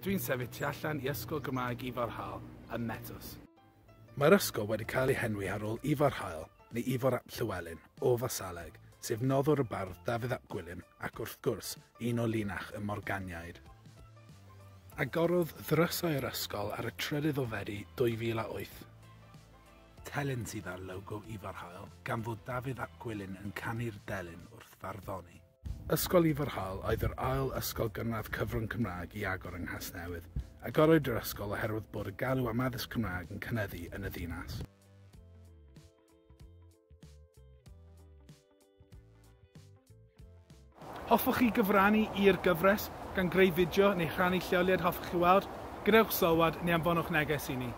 Dwi'n sefyll tu allan i Ysgol Gymraeg Ifor Hael ym Metws. Mae'r ysgol wedi cael ei henwi ar ôl Ifor Hael, neu Ifor ap Llywelyn, o Fasaleg, sef noddwr y bardd Dafydd ap Gwilym ac wrth gwrs, un o linach y Morganiaid. Agorodd ddrysau yr ysgol ar y 3 o Fedi 2008. Telyn sydd ar logo Ifor Hael, gan fod Dafydd ap Gwilym yn canu'r delyn wrth farddoni. Ysgol Ifor Hael oedd yr ail ysgol gynradd cyfrwng Cymraeg i agor yng Nghasnewydd. Agorwyd yr ysgol oherwydd bod y galw am addysg Cymraeg yn cynyddu yn y ddinas. Hoffwch chi gyfrannu i'r gyfres, gan greu fideo neu rhannu lleoliad hoffech chi weld? Gwnewch sylwad neu anfonwch neges i ni.